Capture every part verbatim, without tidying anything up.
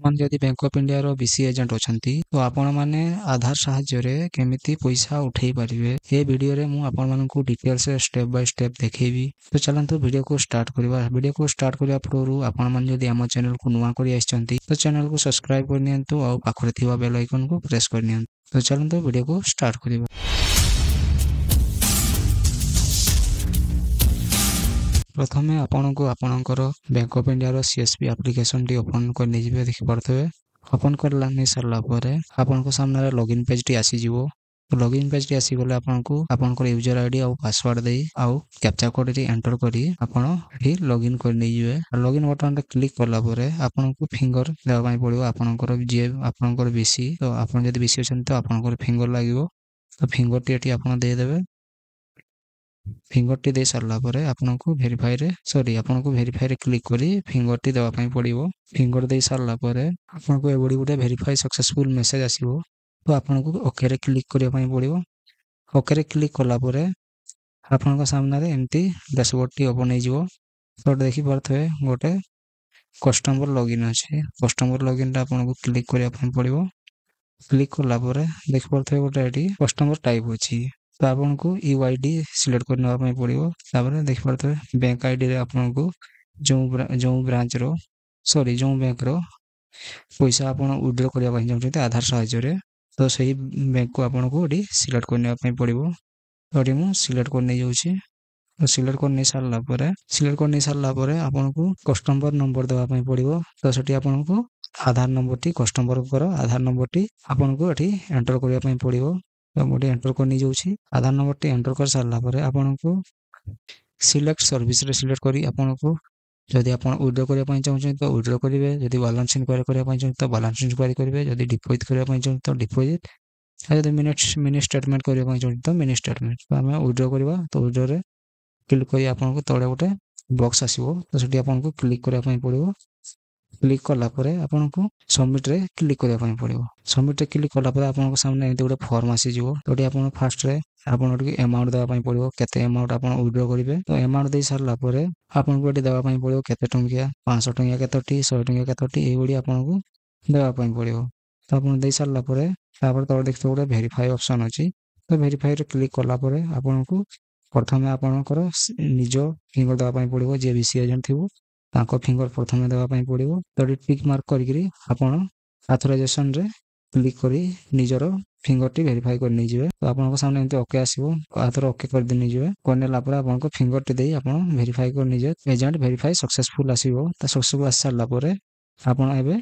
ଆପଣମାନେ ଯଦି bank of ଇଣ୍ଡିଆର ବିସି ଏଜେଣ୍ଟ ଅଛନ୍ତି ତ ଆପଣମାନେ ଆଧାର ସାହାଯ୍ୟରେ କେମିତି ପଇସା ଉଠେଇ ପାରିବେ ଏ ଭିଡ଼ିଓରେ ମୁଁ ଆପଣମାନଙ୍କୁ ଡିଟେଲ୍ସରେ ଷ୍ଟେପ୍ ବାଇ ଷ୍ଟେପ୍ ଦେଖେଇବି ତ ଚାଲନ୍ତୁ ଭିଡ଼ିଓକୁ ଷ୍ଟାର୍ଟ କରିବା ଭିଡ଼ିଓକୁ ଷ୍ଟାର୍ଟ କରିବା ପୂର୍ବରୁ ଆପଣମାନେ ଯଦି ଆମ ଚ୍ୟାନେଲକୁ ନୂଆ କରି ଆସିଛନ୍ତି ତ ଚ୍ୟାନେଲକୁ ସବସ୍କ୍ରାଇବ୍ କରିନିଅନ୍ତୁ ଆଉ ପାଖରେ ଥିବା ବେଲ୍ ଆଇକନ୍କୁ ପ୍ରେସ୍ କରିନିଅନ୍ତୁ ତ ଚାଲନ୍ତୁ ଭିଡ଼ିଓକୁ ଷ୍ଟାର୍ଟ କରିବା ପ୍ରଥମେ ଆପଣଙ୍କୁ ଆପଣଙ୍କର ବ୍ୟାଙ୍କ ଅଫ୍ ଇଣ୍ଡିଆର ସି ଏସ୍ ପି ଆପ୍ଲିକେସନଟି ଓପନ୍ କରି ନେଇଯିବେ ଦେଖିପାରୁଥିବେ ଓପନ୍ କରିଲା ନେଇ ସାରିଲା ପରେ ଆପଣଙ୍କ ସାମ୍ନାରେ ଲଗ୍ଇନ୍ ପେଜ୍ଟି ଆସିଯିବ ଲଗ୍ଇନ୍ ପେଜ୍ଟି ଆସିଗଲେ ଆପଣଙ୍କୁ ଆପଣଙ୍କର ୟୁଜର I D ଆଉ ପାସୱାର୍ଡ଼ ଦେଇ ଆଉ କ୍ୟାପଚା କୋଡ଼୍ଟି ଏଣ୍ଟର କରି ଆପଣ ଏଠି ଲଗ୍ଇନ୍ କରି ନେଇଯିବେ ଲଗ୍ଇନ୍ ବଟନ୍ରେ କ୍ଲିକ୍ କଲା ପରେ ଆପଣଙ୍କୁ ଫିଙ୍ଗର ଦେବା ପାଇଁ ପଡ଼ିବ ଆପଣଙ୍କର ଯିଏ ଆପଣଙ୍କର ବିସି ତ ଆପଣ ଯଦି ବିସି ଅଛନ୍ତି ତ ଆପଣଙ୍କର ଫିଙ୍ଗର ଲାଗିବ ତ ଫିଙ୍ଗରଟି ଏଠି ଆପଣ ଦେଇଦେବେ ଫିଙ୍ଗରଟି ଦେଇ ସାରିଲା ପରେ ଆପଣଙ୍କୁ ଭେରିଫାଇରେ ସରି ଆପଣଙ୍କୁ ଭେରିଫାଇରେ କ୍ଲିକ୍ କରି ଫିଙ୍ଗରଟି ଦେବା ପାଇଁ ପଡ଼ିବ ଫିଙ୍ଗର ଦେଇ ସାରିଲା ପରେ ଆପଣଙ୍କୁ ଏଭଳି ଗୋଟେ ଭେରିଫାଇ ସକ୍ସେସଫୁଲ୍ ମେସେଜ୍ ଆସିବ ତ ଆପଣଙ୍କୁ ଓକେରେ କ୍ଲିକ୍ କରିବା ପାଇଁ ପଡ଼ିବ ଓକେରେ କ୍ଲିକ୍ କଲା ପରେ ଆପଣଙ୍କ ସାମ୍ନାରେ ଏମିତି ଡ୍ୟାସବୋର୍ଡ଼ଟି ଓପନ୍ ହେଇଯିବ ତ ଦେଖିପାରୁଥିବେ ଗୋଟେ କଷ୍ଟମର ଲଗ୍ଇନ୍ ଅଛି କଷ୍ଟମର ଲଗ୍ଇନ୍ଟା ଆପଣଙ୍କୁ କ୍ଲିକ୍ କରିବା ପାଇଁ ପଡ଼ିବ କ୍ଲିକ୍ କଲା ପରେ ଦେଖିପାରୁଥିବେ ଗୋଟେ ଏଠି କଷ୍ଟମର ଟାଇପ୍ ଅଛି ତ ଆପଣଙ୍କୁ you I D select କରି ନେବା ପାଇଁ ପଡ଼ିବ ତାପରେ ଦେଖିପାରୁଥିବେ ବ୍ୟାଙ୍କ I ଡ଼ିରେ ଆପଣଙ୍କୁ ଯେଉଁ ଯେଉଁ ବ୍ରାଞ୍ଚର ସରି ଯେଉଁ ବ୍ୟାଙ୍କର ପଇସା ଆପଣ ୱିଡ୍ର କରିବା ପାଇଁ ଚାହୁଁଛନ୍ତି ଆଧାର ସାହାଯ୍ୟରେ ତ ସେହି ବ୍ୟାଙ୍କକୁ ଆପଣଙ୍କୁ ଏଠି ସିଲେକ୍ଟ କରି ନେବା ପାଇଁ ପଡ଼ିବ ତ ଏଠି ମୁଁ ସିଲେକ୍ଟ କରି ନେଇଯାଉଛି ସିଲେକ୍ଟ କରି ନେଇ ସାରିଲା ପରେ ସିଲେକ୍ଟ କରି ନେଇ ସାରିଲା ପରେ ଆପଣଙ୍କୁ କଷ୍ଟମର ନମ୍ବର ଦେବା ପାଇଁ ପଡ଼ିବ ତ ସେଠି ଆପଣଙ୍କୁ ଆଧାର ନମ୍ବରଟି କଷ୍ଟମରଙ୍କର ଆଧାର ନମ୍ବରଟି ଆପଣଙ୍କୁ ଏଠି ଏଣ୍ଟର କରିବା ପାଇଁ ପଡ଼ିବ ତ ମୁଁ ଏଠି ଏଣ୍ଟର କରି ନେଇଯାଉଛି ଆଧାର ନମ୍ବରଟି ଏଣ୍ଟର କରି ସାରିଲା ପରେ ଆପଣଙ୍କୁ ସିଲେକ୍ଟ ସର୍ଭିସରେ ସିଲେକ୍ଟ କରି ଆପଣଙ୍କୁ ଯଦି ଆପଣ ୱିଡ୍ର କରିବା ପାଇଁ ଚାହୁଁଛନ୍ତି ତ ୱିଡ୍ର କରିବେ ଯଦି ବାଲାନ୍ସ ଇନକ୍ୱାରି କରିବା ପାଇଁ ଚାହୁଁଛନ୍ତି ତ ବାଲାନ୍ସ ଇନକ୍ୱାରି କରିବେ ଯଦି ଡିପୋଜିଟ୍ କରିବା ପାଇଁ ଚାହୁଁଛନ୍ତି ତ ଡିପୋଜିଟ୍ ଆଉ ଯଦି ମିନି ମିନି ଷ୍ଟେଟମେଣ୍ଟ କରିବା ପାଇଁ ଚାହୁଁଛନ୍ତି ତ ମିନି ଷ୍ଟେଟମେଣ୍ଟ ତ ଆମେ ୱିଡ୍ର କରିବା ତ ୱିଡ୍ରରେ କ୍ଲିକ୍ କରି ଆପଣଙ୍କୁ ତଳେ ଗୋଟେ ବକ୍ସ ଆସିବ ତ ସେଠି ଆପଣଙ୍କୁ କ୍ଲିକ୍ କରିବା ପାଇଁ ପଡ଼ିବ କ୍ଲିକ୍ କଲା ପରେ ଆପଣଙ୍କୁ ସବମିଟ୍ରେ କ୍ଲିକ୍ କରିବା ପାଇଁ ପଡ଼ିବ ସବମିଟ୍ରେ କ୍ଲିକ୍ କଲା ପରେ ଆପଣଙ୍କ ସାମ୍ନାରେ ଏମିତି ଗୋଟେ ଫର୍ମ ଆସିଯିବ ତ ଏଠି ଆପଣ ଫାର୍ଷ୍ଟରେ ଆପଣ ଟିକେ ଆମାଉଣ୍ଟ ଦେବା ପାଇଁ ପଡ଼ିବ କେତେ ଆମାଉଣ୍ଟ ଆପଣ ୱିଡ୍ର କରିବେ ତ ଆମାଉଣ୍ଟ ଦେଇ ସାରିଲା ପରେ ଆପଣଙ୍କୁ ଏଠି ଦେବା ପାଇଁ ପଡ଼ିବ କେତେ ଟଙ୍କିଆ ପାଞ୍ଚଶହ ଟଙ୍କିଆ କେତୋଟି ଶହେ ଟଙ୍କିଆ କେତୋଟି ଏଇଭଳି ଆପଣଙ୍କୁ ଦେବା ପାଇଁ ପଡ଼ିବ ତ ଆପଣ ଦେଇ ସାରିଲା ପରେ ତାପରେ ତଳେ ଦେଖିଥିବେ ଗୋଟେ ଭେରିଫାଇ ଅପସନ୍ ଅଛି ତ ଭେରିଫାଇରେ କ୍ଲିକ୍ କଲା ପରେ ଆପଣଙ୍କୁ ପ୍ରଥମେ ଆପଣଙ୍କର ନିଜ ଫିଙ୍ଗର ଦେବା ପାଇଁ ପଡ଼ିବ ଯିଏ ବି ସି ଏଜେଣ୍ଟ ଥିବ ତାଙ୍କ ଫିଙ୍ଗର ପ୍ରଥମେ ଦେବା ପାଇଁ ପଡ଼ିବ ତ ଏଠି ଟିକ୍ ମାର୍କ କରିକିରି ଆପଣ ଆଥରାଇଜେସନରେ କ୍ଲିକ୍ କରି ନିଜର ଫିଙ୍ଗରଟି ଭେରିଫାଇ କରି ନେଇଯିବେ ତ ଆପଣଙ୍କ ସାମ୍ନାରେ ଏମିତି ଓକେ ଆସିବ ଆଥର ଓକେ କରିଦେଇ ନେଇଯିବେ କରିନେଲା ପରେ ଆପଣଙ୍କ ଫିଙ୍ଗରଟି ଦେଇ ଆପଣ ଭେରିଫାଇ କରି ନେଇଯିବେ ଏଜେଣ୍ଟ ଭେରିଫାଇ ସକ୍ସେସଫୁଲ୍ ଆସିବ ତ ସକ୍ସେସଫୁଲ୍ ଆସି ସାରିଲା ପରେ ଆପଣ ଏବେ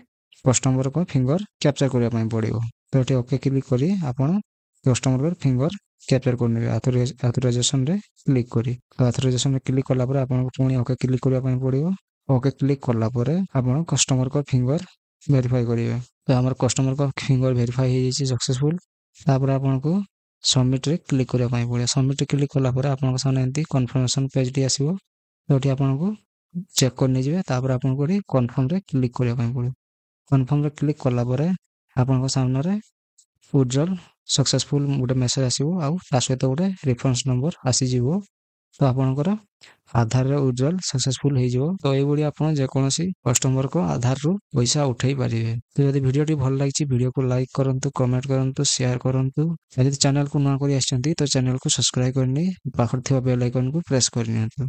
କଷ୍ଟମରଙ୍କ ଫିଙ୍ଗର କ୍ୟାପଚର କରିବା ପାଇଁ ପଡ଼ିବ ତ ଏଠି ଓକେ କ୍ଲିକ୍ କରି ଆପଣ କଷ୍ଟମରର ଫିଙ୍ଗର କ୍ୟାପଚର କରିନେବେ ଆଥରାଇଜେସନରେ କ୍ଲିକ୍ କରି ତ ଆଥରାଇଜେସନରେ କ୍ଲିକ୍ କଲା ପରେ ଆପଣଙ୍କୁ ପୁଣି ଓକେ କ୍ଲିକ୍ କରିବା ପାଇଁ ପଡ଼ିବ ଓକେ କ୍ଲିକ୍ କଲା ପରେ ଆପଣ କଷ୍ଟମରଙ୍କ ଫିଙ୍ଗର ଭେରିଫାଇ କରିବେ ତ ଆମର କଷ୍ଟମରଙ୍କ ଫିଙ୍ଗର ଭେରିଫାଇ ହେଇଯାଇଛି ସକ୍ସେସଫୁଲ୍ ତାପରେ ଆପଣଙ୍କୁ ସବମିଟ୍ରେ କ୍ଲିକ୍ କରିବା ପାଇଁ ପଡ଼ିବ ସବମିଟ୍ରେ କ୍ଲିକ୍ କଲା ପରେ ଆପଣଙ୍କ ସାମ୍ନାରେ ଏମିତି କନଫର୍ମେସନ୍ ପେଜ୍ଟି ଆସିବ ଯେଉଁଠି ଆପଣଙ୍କୁ ଚେକ୍ କରି ନେଇଯିବେ ତାପରେ ଆପଣଙ୍କୁ ଏଠି କନଫର୍ମରେ କ୍ଲିକ୍ କରିବା ପାଇଁ ପଡ଼ିବ କନଫର୍ମରେ କ୍ଲିକ୍ କଲା ପରେ ଆପଣଙ୍କ ସାମ୍ନାରେ ୱିଡ୍ରଲ୍ ସକ୍ସେସଫୁଲ୍ ଗୋଟେ ମେସେଜ୍ ଆସିବ ଆଉ ତା ସହିତ ଗୋଟେ ରେଫରେନ୍ସ ନମ୍ବର ଆସିଯିବ ତ ଆପଣଙ୍କର ଆଧାରରେ ୱିଡ୍ରଲ୍ ସକ୍ସେସଫୁଲ୍ ହେଇଯିବ ତ ଏଇଭଳି ଆପଣ ଯେକୌଣସି କଷ୍ଟମରଙ୍କ ଆଧାରରୁ ପଇସା ଉଠେଇ ପାରିବେ ତ ଯଦି ଭିଡ଼ିଓଟି ଭଲ ଲାଗିଛି ଭିଡ଼ିଓକୁ ଲାଇକ୍ କରନ୍ତୁ କମେଣ୍ଟ କରନ୍ତୁ ସେୟାର କରନ୍ତୁ ଯଦି ଚ୍ୟାନେଲକୁ ନୂଆ କରି ଆସିଛନ୍ତି ତ ଚ୍ୟାନେଲକୁ ସବସ୍କ୍ରାଇବ୍ କରିନେଇ ପାଖରେ ଥିବା ବେଲ୍ ଆଇକନ୍କୁ ପ୍ରେସ୍ କରିନିଅନ୍ତୁ।